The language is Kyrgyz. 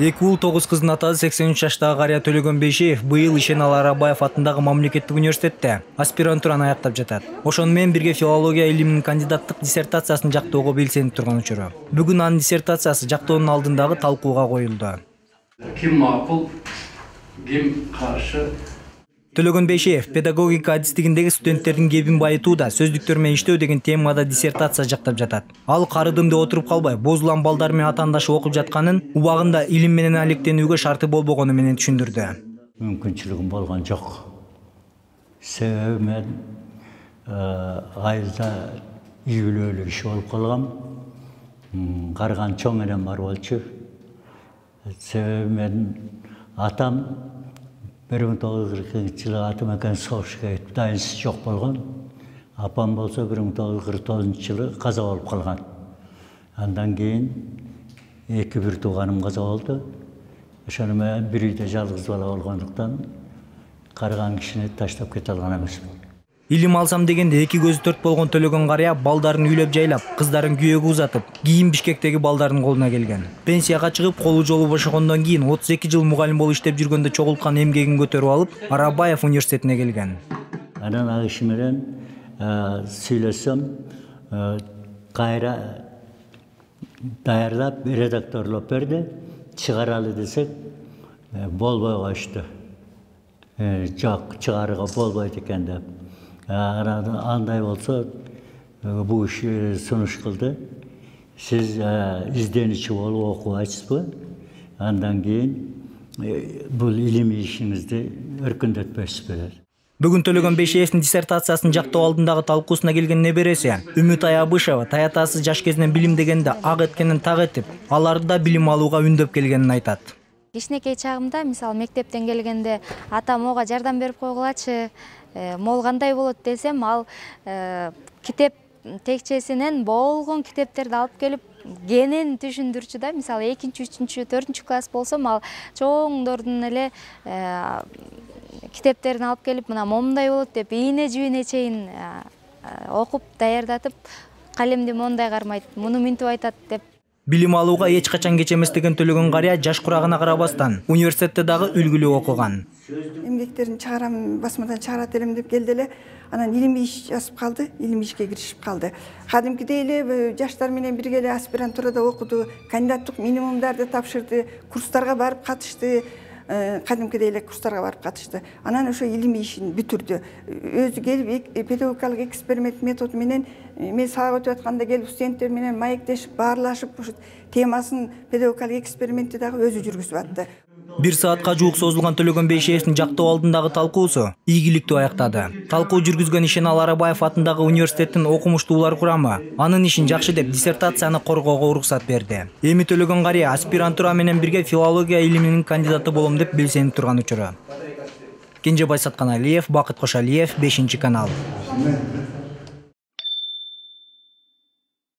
2 ул 9 кыздын атасы 83 жаштагы Кария Төлөгөн Бейшеев быйыл Ишеналы Арабаев атындагы мамлекеттик университетте аспирантураны аяктап жатат. Ошону менен бирге филология илиминин кандидаттык диссертациясын жактоого белсенип турган учуру. Бүгүн анын диссертациясы жактоонун алдындагы талкууга коюлду. Ким макул, ким каршы? Төлөгөн Бейшеев педагогика адистигиндеги студенттердин кебин байытууда сөздүктөр менен иштөө деген темада диссертация жактап жатат. Ал карыдым деп отуруп калбай, бозулан балдар менен атаандашы окуп жатканын, убагында илим менен алектенүүгө шарты болбогону менен түшүндүрдү. Мүмкүнчүлүгүм болгон жок. Себеби мен айылда үй-бүлөлүк иш болуп калгам. Карган чоң энем бар болчу. Себеби мен атам 1942-жылы Атамекен согушка кетип, дайынсыз жок болгон. Апам болсо 1949-жылы каза болуп калган. Андан кийин бир тууганым каза болду. Ошону менен бир үйдө жалгыз бала болгондуктан карган кишини таштап кете алган эмесмин. Илим алсам дегенде эки көзү төрт болгон Төлөгөн Кария балдарын үйлөп жайлап, кыздарын күйөөгө узатып, кийин Бишкектеги балдардын колуна келген. Пенсияга чыгып, колу жолу бошогондон кийин 32 жыл мугалим болуп иштеп жүргөндө чогулткан эмгегин көтөрүп алып, Арабаев университетине келген. Анан ал киши менен сүйлөсөм, кайра даярдап, редакторлоп берди. Чыгаралы десек, болбой коюшту. Жок, чыгарууга болбойт экен деп. Андай болсо, бул иши сунуш кылды. Сиз изденүүчү болуп окубайсызбы? Андан кийин бул илимий ишиңизди өркүндөтпөйсүзбү деп. Бүгүн Төлөгөн Бейшеевдин диссертациясын жактоо алдындагы талкуусуна келген небереси Үмүт Аябышева таятасы жаш кезинен билим дегенде ак эткенин так этип, аларды да билим алууга үндөп келгенин айтат. Кичинекей чагымда, мисалы мектептен келгенде атам ого жардам берип койгулачы, могул кандай болот десем, ал китеп текчесинен болгон китептерди алып келип кенен түшүндүрчү да. Мисалы 2-3, 4 класс болсом, ал чоңдордун эле китептерин алып келип, мына момундай болот деп, ийне жибине чейин окуп даярдатып, калемди мондай кармайт, муну минтип айтат деп. Билим алууга эч качан кеч эмес деген Төлөгөн Кария жаш курагына карабастан университетте дагы үлгүлүү окуган. Эмгектерин чыгарам, басмадан чыгарат элем деп келди эле. Анан илимий иш жазып калды, илимий ишке киришип калды. Кадимкидей эле жаштар менен бирге эле аспирантурада окуду, кандидаттык минимумдарды тапшырды, курстарга барып катышты. Кадимкидей эле курстарга барып катышты. Анан ошо илимий ишин бүтүрдү. Өзү келип педагогикалык эксперимент методу менен мен сабак өтүп атканда келип студенттер менен маектешип, баарлашып, ушу темасын педагогикалык экспериментти дагы өзү жүргүзүп атты. 1 саатка жуук созулган Төлөгөн Бейшеевдин жактоо алдындагы талкуусу ийгиликтүү аяктады. Талкуу жүргүзгөн Ишеналы Арабаев атындагы университеттин окумуштуулар курамы анын ишин жакшы деп диссертацияны коргоого уруксат берди. Эми Төлөгөн Кария аспирантура менен бирге филология илиминин кандидаты болом деп белсенип турган учуру. Кенжебай Сатканалиев, Бакыт Кошалиев, 5 канал.